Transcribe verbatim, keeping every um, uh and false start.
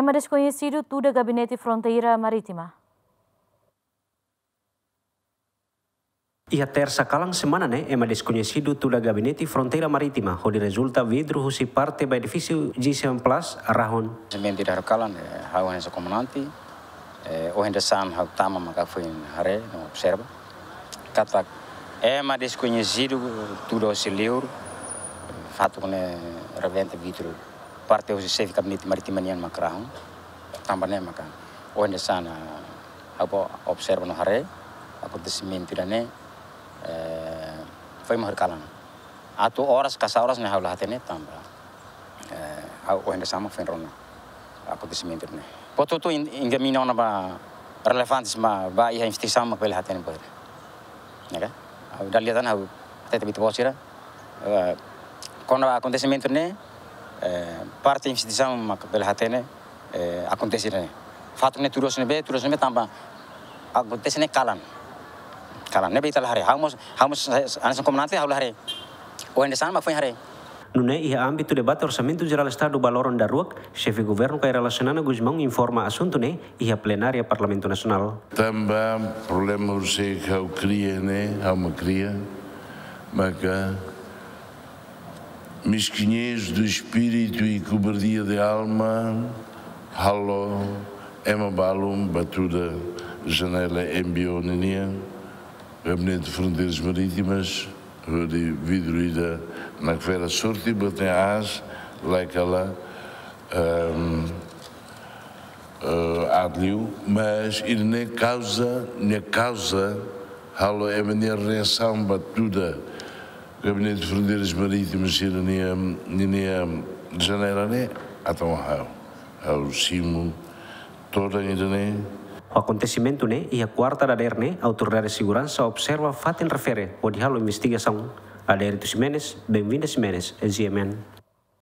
Ema deskoñesidu tuda Gabinete Fronteira Marítima. Iha Tersa kalan semana ne'e, ema deskoñesidu tuda Gabinete Fronteira Marítima, hodi rezulta vidru husi parte ba edifísiu G seven Plus, rahun. Semente da kalan, eh, ha'u hanesan komandante, eh, ohin dadeer-saan ha'u tama maka foin haree no observa katak ema deskoñesidu tuda hosi liur, fatuk ne'e rebenta vidru parte husi xefe Gabinete Marítima nian mak rahun. Tanba ne'e maka ohin dadeer-saan ha'u observa no haree akontesimentu ida-ne'e, eh, foin mai kalan. Atu oras ka sá oras ne'e ha'u la hatene tanba, eh, ha'u ohin dadeer-saan mak foin rona akontesimentu ne'e. Portantu, in-, enkamina ona ba relevantes mak ba iha investigasaun mak bele hatene buat ne'e. Ne'e ka? Ha'u dala ida tan ha'u hatete ba ita-boot sira, eh, kona-ba akontesimentu ne'e, eh, parte investigasaun mak bele hatene, eh, akontese ne'e. Fatuk ne'e tuir oras ne'ebé, tuir oras ne'ebé tanba akontese ne'e kalan. Kalan ne'ebé ita la haree. Ha'u mós, ha'u mós, eh, hanesan komandante ha'u la haree. Ohin dadeer-saan mak foin haree. Nune'e iha ámbitu debate Orsamentu Jerál Estadu ba loron daruak, Xefe Governu Kay Rala Xanana Gusmão informa asuntu ne'e iha plenária Parlamentu Nasionál. Tanba problema husi ha'u kria ne'e, ha'u mak kria, maka mesquinhez de espírito e cobardia de alma, halo ema balun ba tuda janela M B O ninian, Gabinete de Fronteiras Marítimas, hodi vidru ida nakfera sorte, botei as, laikala, ehm, eh, aat liu, mas ida-ne'e kauza, nia kauza, halo ema nia reasaun ba tuda Gabinete de Fronteiras Marítimas sira-nia, ninia janela ne'e, entaun ha'u, ha'u simu todan ida-ne'e. Akontesimentu ne'e iha kuarta dadeer ne'e, autoridade seguransa observa fatin refere hodi halo investigasaun. Adérito Ximenes, Benvinda Ximenes, G M N.